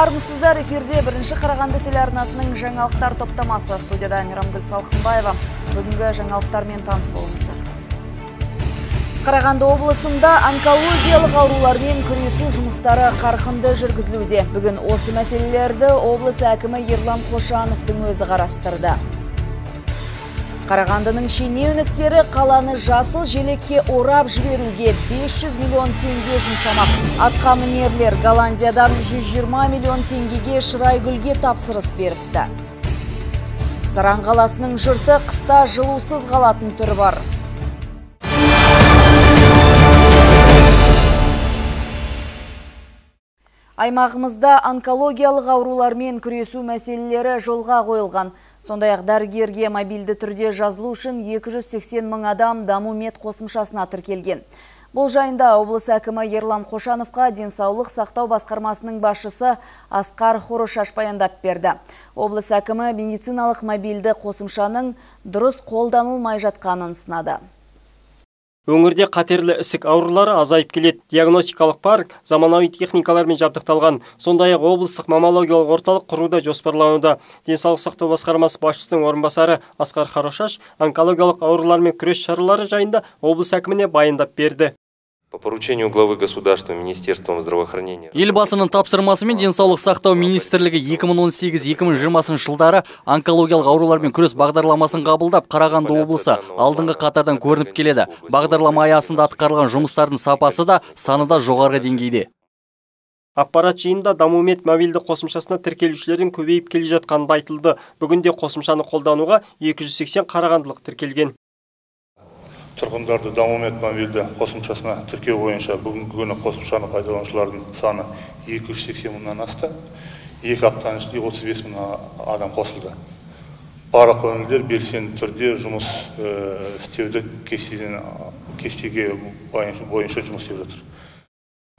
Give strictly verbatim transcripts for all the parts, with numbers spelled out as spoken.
Армысыздар, эфирде бірінші Қарағанды телеарнасының жаңалықтар топтамасы. Студияда Мейрамгүл Салқынбаева. Бүгінгі жаңалықтармен таныс болыңыздар. Қарағанды облысында онкологиялық аурулармен күресу жұмыстары қарқынды жүргізілуде. Бүгін осы мәселелерді облыс әкімі Ерлан Қошановтың өзі қарастырды. Қарағандының шенеуніктері қаланы жасыл желекке орап жіберуге бес жүз миллион теңге жұмсамақ. Атқамінерлер Голландиядан жүз жиырма миллион теңгеге Шырайгүлге тапсырыс беріпті. Саран қаласының жұрты қыста жылусыз қалатын түрі бар. Аймағымызда онкологиялық аурулармен күресу мәселелері жолға қойылған. Сондай-ақ дәрігерге мобильді түрде жазылу үшін екі жүз сексен мың адам даму мед қосымшасына тіркелген. Бұл жайында облыс әкімі Ерлан Қошановқа денсаулық сақтау басқармасының басшысы Асқар Хорошаш баяндап берді. Облыс әкімі медициналық мобильді қосымшаның дұрыс қолданылмай жатқанын сынады. Өңірде қатерлі ісік аурулары азайып келеді. Диагностикалық парк заманауи техникалармен жабдықталған. Сондай-ақ облыстық маммологиялық орталық құруда жоспарлануда. Денсаулық сақтау басқармасы басшысының орынбасары Асқар Хорошаш онкологиялық аурулармен күрес шаралары жайында облыс әкіміне баяндап берді. По поручению главы государства Министерством здравоохранения. Елбасының тапсырмасымен денсаулық сақтау министрлігі екі мың он сегіз екі мың жиырмасыншы жылдары онкологиялық аурулармен күрес бағдарламасын қабылдап, Қарағанды облысы алдыңғы қатардан көрініп келеді. Бағдарлама аясында атқарылған жұмыстардың сапасы да, саны да жоғары деңгейде. Аппарат жиында даму мед мобильді қосымшасына тіркелушілердің көбейіп келе жатқаны айтылды. Бүгінде қосымшаны қолдануға екі жүз сексен қарағандылық тіркелген. Тұрғындарды даму мед мобильді қосымшасына тіркеу бойынша бүгінгі күні қосымшаны пайдаланушылардың саны екі жүз сексен мыңнан асты. Екі аптаның ішінде отыз бес мың адам қосылды. Барлық өңірлер белсенді түрде жұмыс істеуді кестеге бойынша жұмыс істеп жатыр.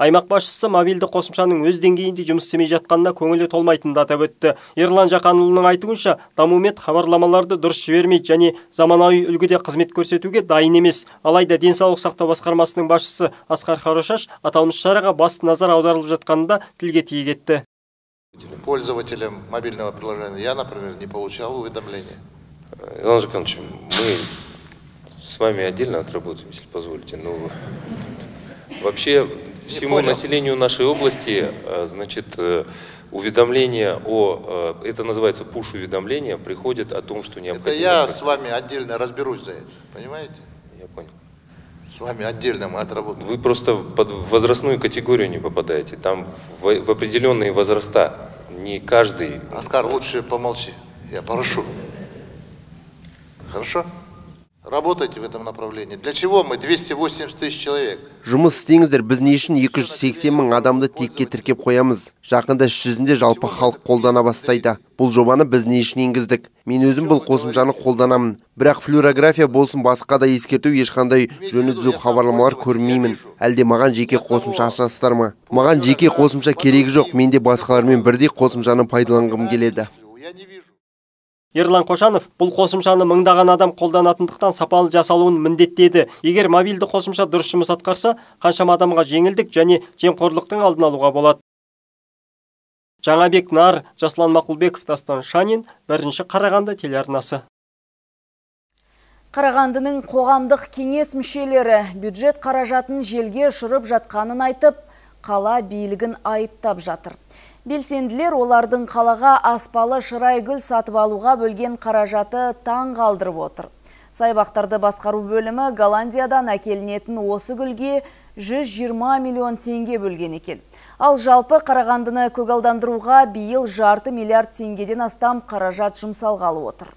Аймақ басшысы мобильді қосымшаның өз деңгейінде жұмыс істемей жатқанына көңілі толмайтынын атап өтті. Ерлан Жақанұлының айтуынша, даму мед хабарламаларды дұрыс жібермейді және заманауи үлгіде қызмет көрсетуге дайын емес. Алайда денсаулық сақтау басқармасының басшысы Асқар Хорошаш аталмыш шараға басты назар аударылып жатқанында тілге тиек етті. Пользователям мобильного приложения я, например, не получал уведомления. Иван Жаканович, мы с вами отдельно отработаем, если позволите. Но вообще всему населению нашей области, значит, уведомления о, это называется пуш-уведомления, приходят о том, что необходимо... Это я с вами отдельно разберусь за это, понимаете? Я понял. С вами отдельно мы отработаем. Вы просто под возрастную категорию не попадаете, там в, в определенные возраста, не каждый... Оскар, лучше помолчи, я прошу. Хорошо? Работайте в этом направлении. Для чего мы двести восемьдесят тысяч человек? Жұмыс істеңіздер, біз не үшін екі жүз сексен мың адамды текке тіркеп қоямыз. Жақында іс жүзінде жалпы халық қолдана бастайды. Бұл жобаны біз не үшін енгіздік? Мен өзім бұл қосымшаны қолданамын. Бірақ флюорография болсын, басқа да ескерту ешқандай жөні түзу хабарламалар көрмеймін. Әлде маған жеке қосымша ашасыздар ма? Маған жеке қосымша керегі жоқ. Мен де басқалармен бірдей қосымшаны пайдаланғым келеді. Ерлан Қошанов бұл қосымшаны мыңдаған адам қолданатындықтан сапалы жасалуын міндеттеді. Егер мобильді қосымша дұрыс жұмыс атқарса, қаншама адамға жеңілдік және жемқорлықтың алдын алуға болады. Жаңабек Нар, Жаслан Мақұлбеков, Дастан Шанин, бірінші Қарағанды телеарнасы. Қарағандының қоғамдық кеңес мүшелері бюджет қаражатын желге ұшырып жатқанын айтып, қала билігін айыптап жатыр. Белсенділер олардың қалаға аспалы Шырайгүл сатып алуға бөлген қаражаты таң қалдырып отыр. Сайбақтарды басқару бөлімі Голландиядан әкелінетін осы гүлге жүз жиырма миллион теңге бөлген екен. Ал жалпы Қарағандыны көгалдандыруға биыл жарты миллиард теңгеден астам қаражат жұмсалғалы отыр.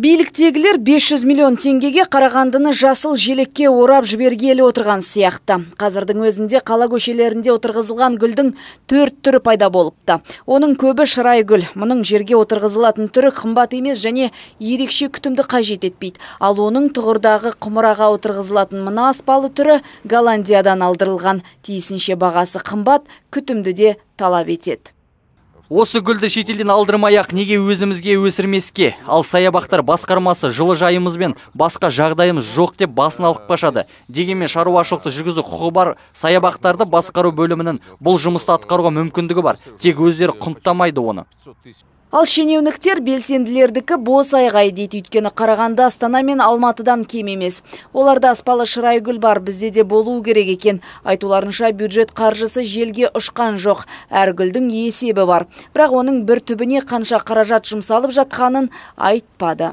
Биліктегілер бес жүз миллион теңгеге Қарағандыны жасыл желекке орап жібергелі отырған сияқты. Қазірдің өзінде қала көшелерінде отырғызылған гүлдің төрт түрі пайда болыпты. Оның көбі Шырайгүл. Мұның жерге отырғызылатын түрі қымбат емес және ерекше күтімді қажет етпейді. Ал оның тұғырдағы құмыраға отырғызылатын мына аспалы түрі Голландиядан алдырылған. Тиісінше бағасы қымбат, күтімді де талап етеді. Осы гүлді шетелден алдырмай-ақ неге өзімізге өсірмеске? Ал саябақтар басқармасы жылыжайымыз бен басқа жағдайымыз жоқ деп басын алып қашады. Дегенмен шаруашылықты жүргізу құқығы бар саябақтарды басқару бөлімінің бұл жұмысты атқаруға мүмкіндігі бар. Тек өздері құнттамайды оны. Ал шенеуніктер белсенділердікі бос айғай дейді, өйткені Қарағанды, Астана мен Алматыдан кем емес. Оларда аспалы шырайгүл бар, бізде де болу керек екен. Айтуларынша бюджет қаржысы желге ұшқан жоқ, әр гүлдің есебі бар. Бірақ оның бір түбіне қанша қаражат жұмсалып жатқанын айтпады.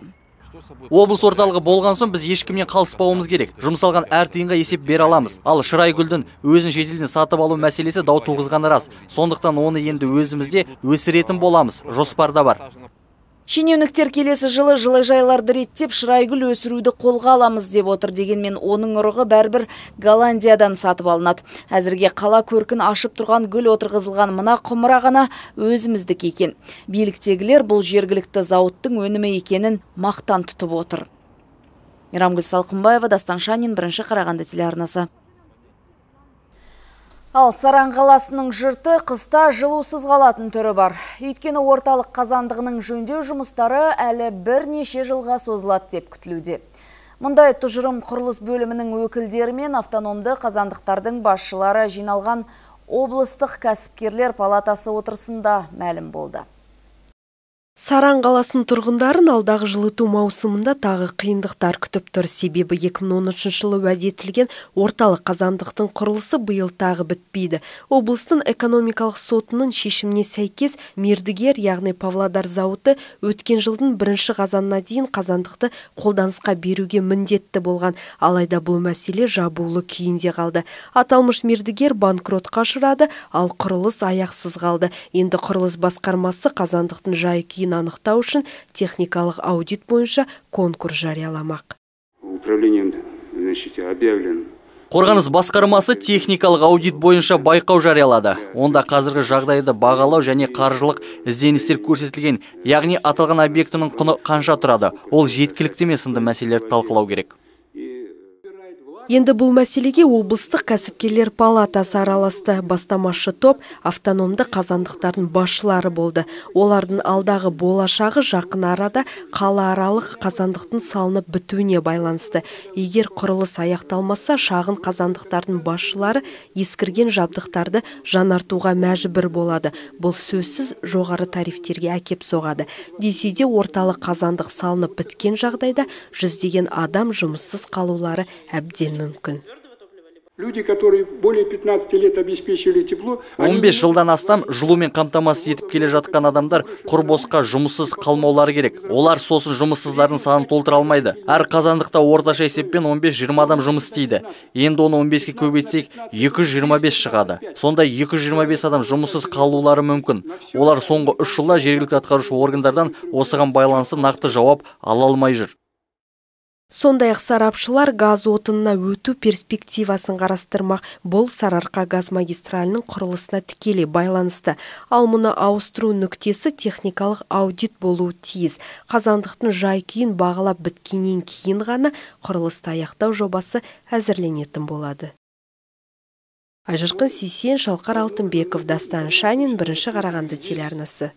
Облыс орталығы болған соң біз ешкімнен қалыспауымыз керек. Жұмсалған әр тиынға есеп бере аламыз. Ал шырайгүлдің өзін шетелден сатып алу мәселесі дау туғызғаны рас. Сондықтан оны енді өзімізде өсіретін боламыз. Жоспарда бар. Шенеуніктер келесі жылы жылыжайларды реттеп шырайгүл өсіруді қолға аламыз деп отыр. Дегенмен оның ұрығы бәрібір Голландиядан сатып алынады. Әзірге қала көркін ашып тұрған гүл отырғызылған мына құмыра ғана өзіміздік екен. Биліктегілер бұл жергілікті зауыттың өнімі екенін мақтан тұтып отыр. Мейрамгүл Салқынбаева, Дастан Шанин, бірінші Қарағанды телеарнасы. Ал Саран қаласының жұрты қыста жылусыз қалатын түрі бар. Өйткені орталық қазандығының жөндеу жұмыстары әлі бірнеше жылға созылады деп күтілуде. Мұндай тұжырым құрылыс бөлімінің өкілдері мен автономды қазандықтардың басшылары жиналған облыстық кәсіпкерлер палатасы отырысында мәлім болды. Саран қаласының тұрғындарын алдағы жылыту маусымында тағы қиындықтар күтіп тұр. Себебі екі мың он үшінші жылы уәде етілген орталық қазандықтың құрылысы биыл тағы бітпейді. Облыстың экономикалық сотының шешіміне сәйкес мердігер, яғни Павлодар зауыты өткен жылдың бірінші қазанына дейін қазандықты қолданысқа беруге міндетті болған. Алайда бұл мәселе жабулы күйінде қалды. Аталмыш мердігер банкротқа ұшырады, ал құрылыс аяқсыз қалды. Енді құрылыс басқармасы қазандықтың жай-күйін анықтау үшін техникалық аудит бойынша конкурс жарияламақ. Управлением, значит, объявлен. Қорғаныс басқармасы техникалық аудит бойынша байқау жариялады. Онда қазіргі жағдайды бағалау және қаржылық ізденістер көрсетілген, яғни аталған объектінің құны қанша тұрады, ол жеткілікті ме сынды мәселелерді талқылау керек. Енді бұл мәселеге облыстық кәсіпкерлер палатасы араласты. Бастамашы топ автономды қазандықтардың басшылары болды. Олардың алдағы болашағы жақын арада қалааралық қазандықтың салынып бітуіне байланысты. Егер құрылыс аяқталмаса, шағын қазандықтардың басшылары ескірген жабдықтарды жаңартуға мәжбүр болады. Бұл сөзсіз жоғары тарифтерге әкеп соғады. Десе де орталық қазандық салынып біткен жағдайда жүздеген адам жұмыссыз қалулары әбден мүмкін. Люди, которые более пятнадцати лет обеспечивали тепло, он бес жылдан астам жылумен қамтамасыз етіп келе жатқан адамдар құр босқа жұмыссыз қалмаулары керек. Олар сосын жұмыссыздардың санын толтыра алмайды. Әр қазандықта орташа есеппен он бес жиырма адам жұмыс істейді. Енді оны он беске көбейтсек екі жүз жиырма бес шығады. Сонда екі жүз жиырма бес адам жұмыссыз қалулары мүмкін. Олар соңғы үш жылда жергілікті атқарушы органдардан осыған байланысты нақты жауап ала алмай жүр. Сондай-ақ сарапшылар газ отынына өту перспективасын қарастырмақ. Бұл Сарыарқа газ магистралінің құрылысына тікелей байланысты. Ал мұны ауыстыру нүктесі техникалық аудит болуы тиіс. Қазандықтың жай-күйін бағалап біткеннен кейін ғана құрылысты аяқтау жобасы әзірленетін болады. Айжырқын Сейсен, Шалқар Алтынбеков, Дастан Шанин, бірінші Қарағанды телеарнасы.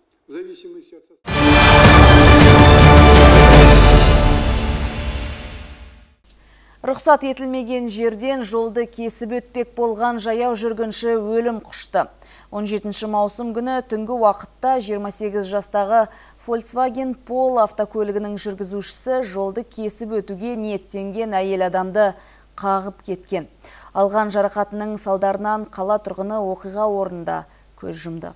Рұқсат етілмеген жерден жолды кесіп өтпек болған жаяу жүргінші өлім құшты. он жетінші маусым күні түнгі уақытта жиырма сегіз жастағы Volkswagen Polo автокөлігінің жүргізушісі жолды кесіп өтуге ниеттенген әйел адамды қағып кеткен. Алған жарақатының салдарынан қала тұрғыны оқиға орнында көз жұмды.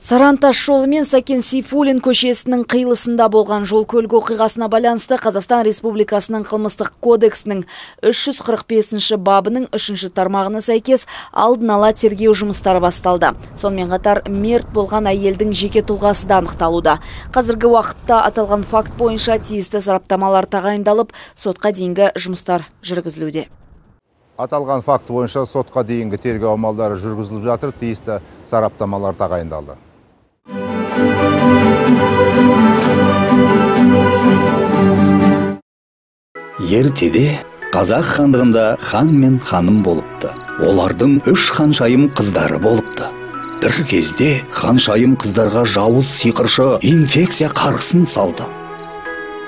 Саран тас жолы мен Сәкен Сейфуллин көшесінің қиылысында болған жол көлік оқиғасына байланысты Қазақстан Республикасының қылмыстық кодексінің үш жүз қырық бесінші бабының үшінші тармағына сәйкес алдын ала тергеу жұмыстары басталды. Сонымен қатар мерт болған әйелдің жеке тұлғасы да анықталуда. Қазіргі уақытта аталған факт бойынша тиісті сараптамалар тағайындалып, сотқа дейінгі жұмыстар жүргізілуде. Аталған факт бойынша сотқа дейінгі тергеу амалдары жүргізіліп жатыр, тиісті сараптамалар тағайындалды. Ертеде қазақ хандығында хан мен ханым болыпты. Олардың үш ханшайым қыздары болыпты. бір кезде ханшайым қыздарға жауыз сиқыршы инфекция қарғысын салды.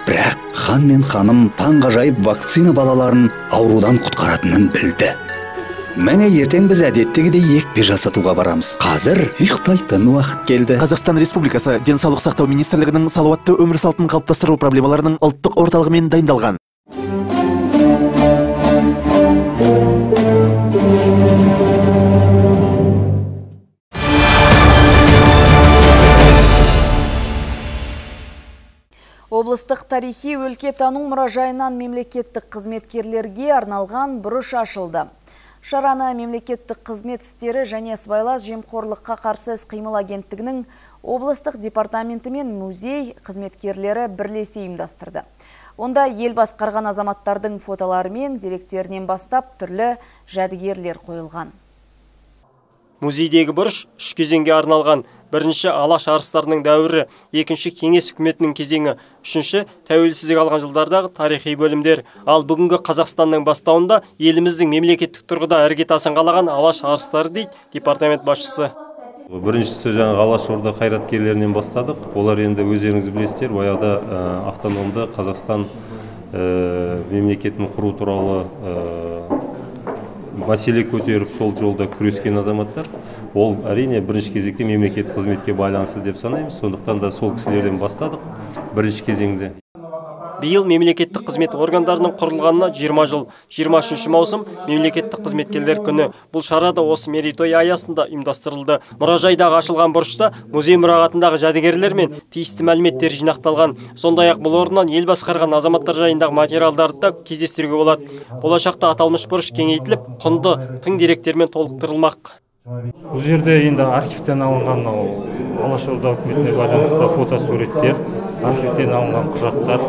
Бірақ хан мен ханым таңғажайып вакцина балаларын аурудан құтқаратынын білді. Мәне ертең біз әдеттегідей екпе жасатуға барамыз. Қазір ұйықтайтын уақыт келді. Қазақстан Республикасы Денсаулық сақтау министрлігінің салауатты өмір салтын қалыптастыру проблемаларының ұлттық орталығымен дайындалған. Облыстық тарихи өлкетану мұражайынан мемлекеттік қызметкерлерге арналған бұрыш ашылды. Шараны мемлекеттік қызмет істері және сыбайлас жемқорлыққа қарсы іс-қимыл агенттігінің облыстық департаменті мен музей қызметкерлері бірлесе ұйымдастырды. Онда ел басқарған азаматтардың фотолары мен деректерінен бастап түрлі жәдігерлер қойылған. Музейдегі бұрыш үш кезеңге арналған. Бірінші Алаш арыстарының дәуірі, екінші Кеңес үкіметінің кезеңі, үшінші тәуелсіздік алған жылдардағы тарихи бөлімдер. Ал бүгінгі Қазақстанның бастауында еліміздің мемлекеттік тұрғыда іргетасын қалаған Алаш арыстары дейді департамент басшысы. Біріншісі жаңағы Алаш орда қайраткерлерінен бастадық. Олар енді өздеріңіз білесіздер, баяғыда автономды Қазақстан мемлекетін құру туралы мәселе көтеріп сол жолда күрескен азаматтар. Ол әрине бірінші кезекте мемлекет қызметке байланысты деп санаймыз. Сондықтан да сол кісілерден бастадық бірінші кезеңде. Биыл мемлекеттік қызмет органдарының құрылғанына жиырма жыл. жиырма үшінші маусым мемлекеттік қызметкерлер күні. Бұл шара да осы мерейтой аясында ұйымдастырылды. Мұражайдағы ашылған бұрышта музей мұрағатындағы жәдігерлер мен тиісті мәліметтер жинақталған. Сондай-ақ бұл орыннан ел басқарған азаматтар жайындағы материалдарды да кездестіруге болады. Болашақта аталмыш бұрыш кеңейтіліп, құнды тың деректермен толықтырылмақ. Бұл жерде енді архивтен алынған Алаш орда үкіметіне байланысты фотосуреттер, архивтен алынған құжаттар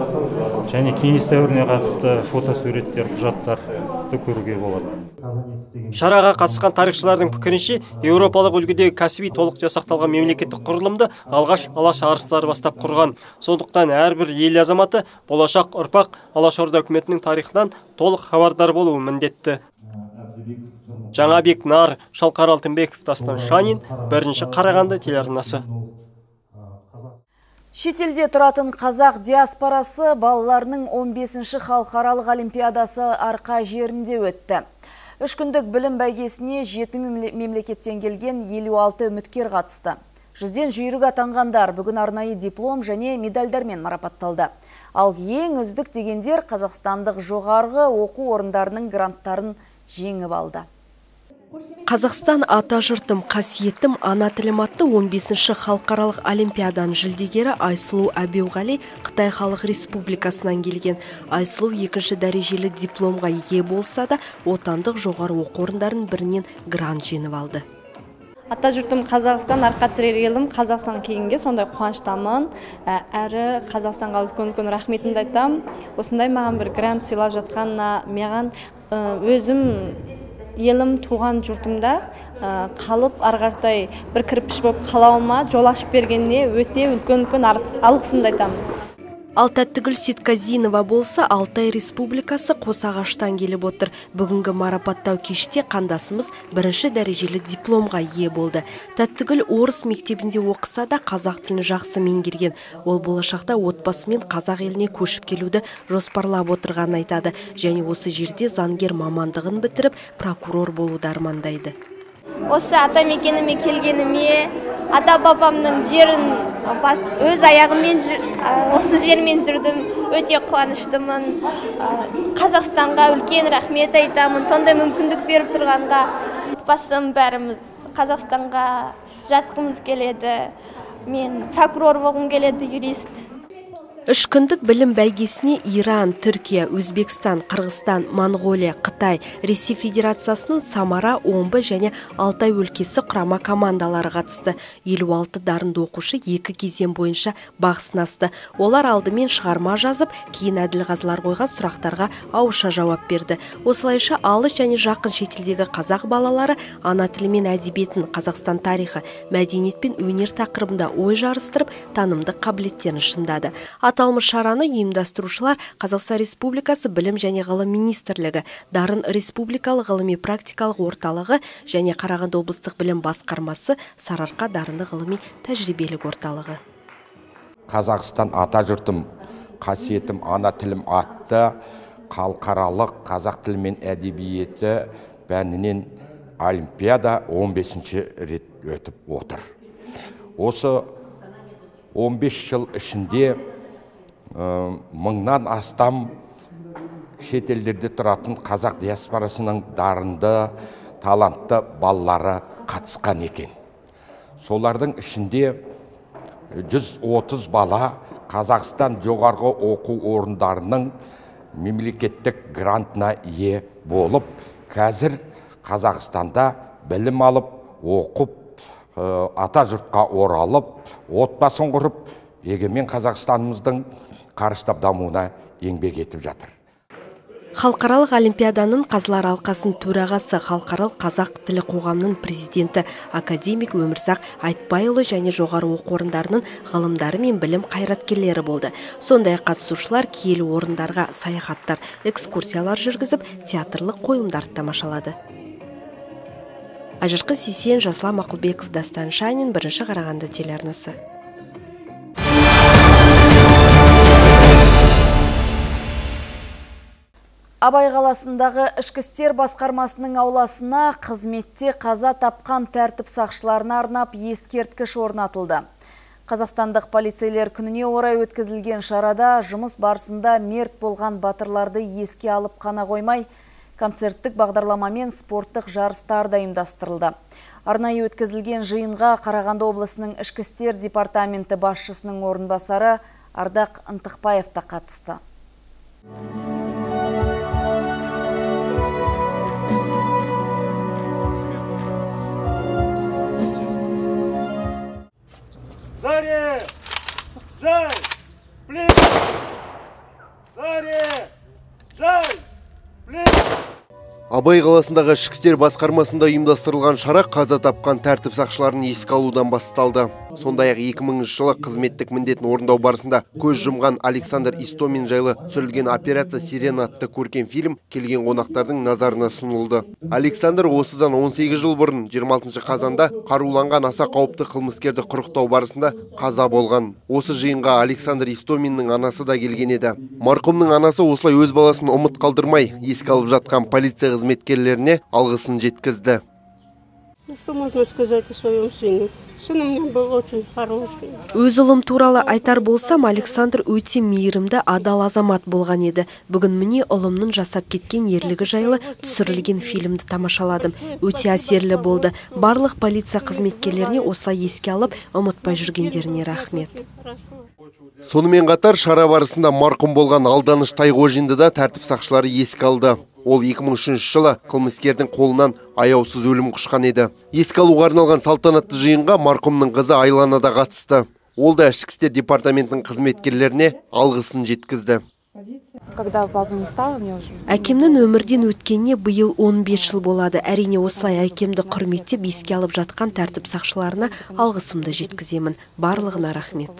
және кеңес дәуіріне қатысты фотосуреттер, құжаттарды көруге болады. Шараға қатысқан тарихшылардың пікірінше, еуропалық үлгідегі кәсіби толық жасақталған мемлекеттік құрылымды алғаш Алаш арыстары бастап құрған. Сондықтан әрбір ел азаматы болашақ ұрпақ Алаш орда үкіметінің тарихынан толық хабардар болуы міндетті. Жаңабек Нар, Шалқар Алтынбеков, Дастан Шанин, бірінші Қарағанды телеарнасы. Шетелде тұратын қазақ диаспорасы балаларының он бесінші халықаралық олимпиадасы Арқа жерінде өтті. Үш күндік білім бәйгесіне жеті мемлекеттен келген елу алты үміткер қатысты. Жүзден жүйрік атанғандар бүгін арнайы диплом және медальдармен марапатталды. Ал ең үздік дегендер қазақстандық жоғарғы оқу орындарының гранттарын жеңіп алды. Қазақстан ата жұртым, қасиеттім ана тілім атты он бесінші халықаралық олимпиаданың жүлдегері Айсұлу Әбеуғали Қытай Халық Республикасынан келген. Айсұлу екінші дәрежелі дипломға ие болса да, отандық жоғары оқу орындарының бірінен грант жеңіп алды. Ата жұртым Қазақстан, арқа тірер елім Қазақстан кейінге сондай қуаныштамын. Әрі Қазақстанға үлкен-үлкен рахметімді айтам. Осындай маған бір грант сыйлап жатқанына маған өзім елім туған жұртымда қалып арғартай бір кірпіш болып қалауыма жол ашып бергеніне өте үлкен-үлкен алғысымды айтамын. Ал Тәттігүл Сетказинова болса Алтай Республикасы Қосағаштан келіп отыр. Бүгінгі марапаттау кеште қандасымыз бірінші дәрежелі дипломға ие болды. Тәттігүл орыс мектебінде оқыса да қазақ тілін жақсы меңгерген. Ол болашақта отбасымен қазақ еліне көшіп келуді жоспарлап отырғанын айтады. Және осы жерде заңгер мамандығын бітіріп, прокурор болуды армандайды. Осы ата мекеніме келгеніме, ата бабамның жерін өз аяғыммен осы жермен жүрдім, өте қуаныштымын. Қазақстанға үлкен рахмет айтамын, сондай мүмкіндік беріп тұрғанға. Отбасым бәріміз Қазақстанға жатқымыз келеді. Мен прокурор болғым келеді, юрист. Үш күндік білім бәйгесіне Иран, Түркия, Өзбекстан, Қырғызстан, Монғолия, Қытай, Ресей Федерациясының Самара, Омбы және Алтай өлкесі құрама командалары қатысты. елу алты дарынды оқушы екі кезең бойынша бақ сынасты. Олар алдымен шығарма жазып, кейін әділқазылар қойған сұрақтарға ауызша жауап берді. Осылайша алыс және жақын шетелдегі қазақ балалары ана тілі мен әдебиетін, Қазақстан тарихы, мәдениет пен өнер тақырыбында ой жарыстырып, танымдық қабілеттерін шыңдады. Аталмыш шараны ұйымдастырушылар Қазақстан Республикасы Білім және ғылым министрлігі, Дарын Республикалық ғылыми практикалық орталығы және Қарағанды облыстық білім басқармасы, Сарыарқа дарынды ғылыми тәжірибелік орталығы. Қазақстан ата жұртым, қасиетім ана тілім атты халықаралық қазақ тілі мен әдебиеті пәнінен олимпиада он бесінші рет өтіп отыр. Осы он бес жыл ішінде мыңнан астам шетелдерде тұратын қазақ диаспорасының дарынды, талантты балалары қатысқан екен. Солардың ішінде жүз отыз бала Қазақстан жоғарғы оқу орындарының мемлекеттік грантына ие болып, қазір Қазақстанда білім алып, оқып, ата жұртқа оралып, отбасын құрып, егемен Қазақстанымыздың қарыштап дамуына еңбек етіп жатыр. Халықаралық олимпиаданың қазылар алқасының төрағасы, халықаралық қазақ тілі қоғамының президенті академик Өмірзақ Айтбайұлы және жоғары оқу орындарының ғылымдары мен білім қайраткерлері болды. Сондай қатысушылар киелі орындарға саяхаттар, экскурсиялар жүргізіп, театрлық қойылымдарды тамашалады. Ажырқы Сесен, Жаслан Мақұлбеков, Дастан Шанин, бірінші Қарағанды телеарнасы. Абай қаласындағы ішкі істер басқармасының ауласына қызметте қаза тапқан тәртіп сақшыларына арнап ескерткіш орнатылды. Қазақстандық полицейлер күніне орай өткізілген шарада жұмыс барысында мерт болған батырларды еске алып қана қоймай, концерттік бағдарламамен спорттық жарыстар да ұйымдастырылды. Арнайы өткізілген жиынға Қарағанды облысының ішкі істер департаменті басшысының орынбасары Ардақ Ынтықбаев та қатысты. Заре! Жай! Плин! Заре! Жай! Плин! Абай қаласындағы ішкі істер басқармасында ұйымдастырылған шара қаза тапқан тәртіп сақшыларын еске алудан басталды. Сондай-ақ екі мыңыншы жылы қызметтік міндетін орындау барысында көз жұмған Александр Истомин жайлы түсірілген операция «Сирена» атты көркем фильм келген қонақтардың назарына сұнылды. Александр осыдан он сегіз жыл бұрын жиырма алтыншы қазанда қаруланған аса қауіпті қылмыскерді құрықтау барысында қаза болған. Осы жиынға Александр Истоминнің анасы да келген еді. Марқұмның анасы осылай өз баласын ұмыт қалдырмай еске алып жатқан полиция қызметкерлеріне алғысын жеткізді. Ну, что можно сказать о своем сыне? Сын у меня был очень хороший. Өз ұлым туралы айтар болсам, Александр өте мейірімді, адал азамат болған еді. Бүгін міне ұлымның жасап кеткен ерлігі жайлы түсірілген фильмді тамашаладым. Өте әсерлі болды. Барлық полиция қызметкерлеріне осылай еске алып, ұмытпай жүргендеріне рахмет. Сонымен қатар шара барысында марқұм болған Алданыш Тайғожинді да тәртіп сақшылары еске алды. Ол екі мың үшінші жылы қылмыскердің қолынан аяусыз өлім құшқан еді. Еске алуға арналған салтанатты жиынға марқұмның қызы Айлана да қатысты. Ол да ішкі істер департаментінің қызметкерлеріне алғысын жеткізді. Әкемнің өмірден өткеніне биыл он бес жыл болады. Әрине осылай әкемді құрметтеп еске алып жатқан тәртіп сақшыларына алғысымды жеткіземін. Барлығына рахмет.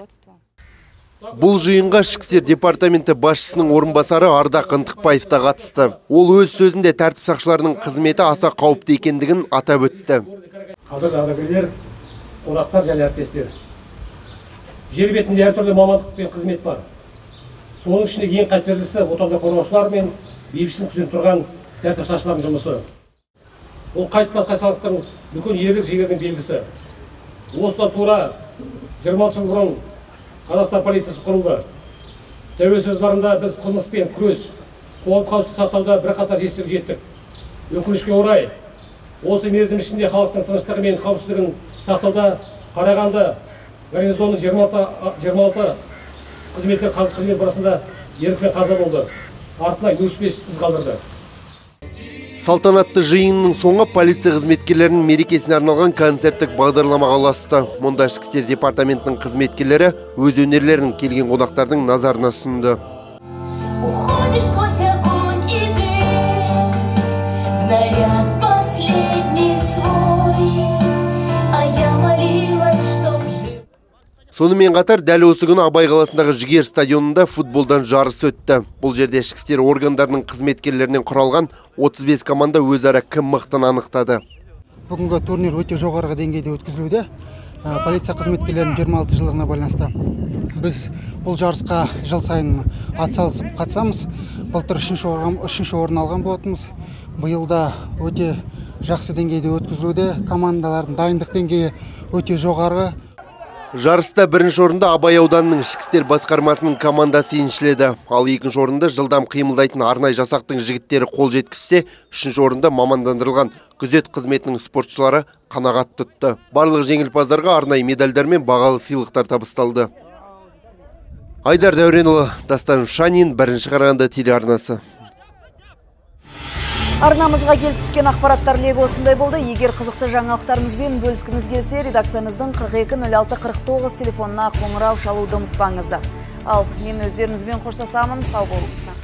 Бұл жиынға ішкі істер департаменті басшысының орынбасары Ардақ Ынтықбаев та қатысты. Ол өз сөзінде тәртіп сақшыларының қызметі аса қауіпті екендігін атап өтті. Қазір ардагерлер, қонақтар және әріптестер. Жер бетінде әртүрлі мамандық пен қызмет бар. Соның ішінде ең қастерлісі отанды қорғаушылар мен бейбітшілік күзетіп тұрған тәртіп сақшыларының жұмысы. Ол қайтпас қайсарлықтың үлкен ерлік жігердің белгісі. Осыдан тура жиырма алты жыл бұрын Қазақстан полициясы құрылды. Тәуелсіздік жылдарында біз қылмыспен күрес, қоғам қауіпсіздігін сақтауда бірқатар жетістікке жеттік. Өкінішке орай, осы мерзім ішінде халықтың тыныштығы мен қауіпсіздігін сақтауда Қарағанды гарнизонының жиырма алты қызметкер қызмет барысында ерлікпен қаза болды. Артына өшпес із қалдырды. Салтанатты жиынның соңы полиция қызметкерлерінің мерекесіне арналған концерттік бағдарламаға ұласты. Мұнда ішкі істер департаментінің қызметкерлері өз өнерлерін келген қонақтардың назарына ұсынды. Сонымен қатар дәл осы күні Абай қаласындағы Жігер стадионында футболдан жарыс өтті. Бұл жерде ішкі істер органдарының қызметкерлерінен құралған отыз бес команда өзара кім мықтыны анықтады. Бүгінгі турнир өте жоғарғы деңгейде өткізілуде. Полиция қызметкерлерінің жиырма алты жылдығына байланысты біз бұл жарысқа жыл сайын атсалысып қатысамыз. Былтыр үшінші орын алған болатынбыз. Биылда өте жақсы деңгейде өткізілуде. Командалардың дайындық деңгейі өте жоғары. Жарыста бірінші орында Абай ауданының ішкі істер басқармасының командасы еншіледі. Ал екінші орында жылдам қимылдайтын арнай жасақтың жігіттері қол жеткізсе, үшінші орында мамандандырылған күзет қызметінің спортшылары қанағат тұтты. Барлық жеңімпаздарға арнайы медальдар мен бағалы сыйлықтар табысталды. Айдар Дәуренұлы, Дастан Шанин, Бірінші Қарағанды телеарнасы. Арнамызға келіп түскен ақпараттар легі осындай болды. Егер қызықты жаңалықтарымызбен бөліскіңіз келсе, редакциямыздың қырық екі нөл алты қырық тоғыз телефонына қоңырау шалуды ұмытпаңыздар. Ал мен өздеріңізбен қоштасамын, сау болыңыздар.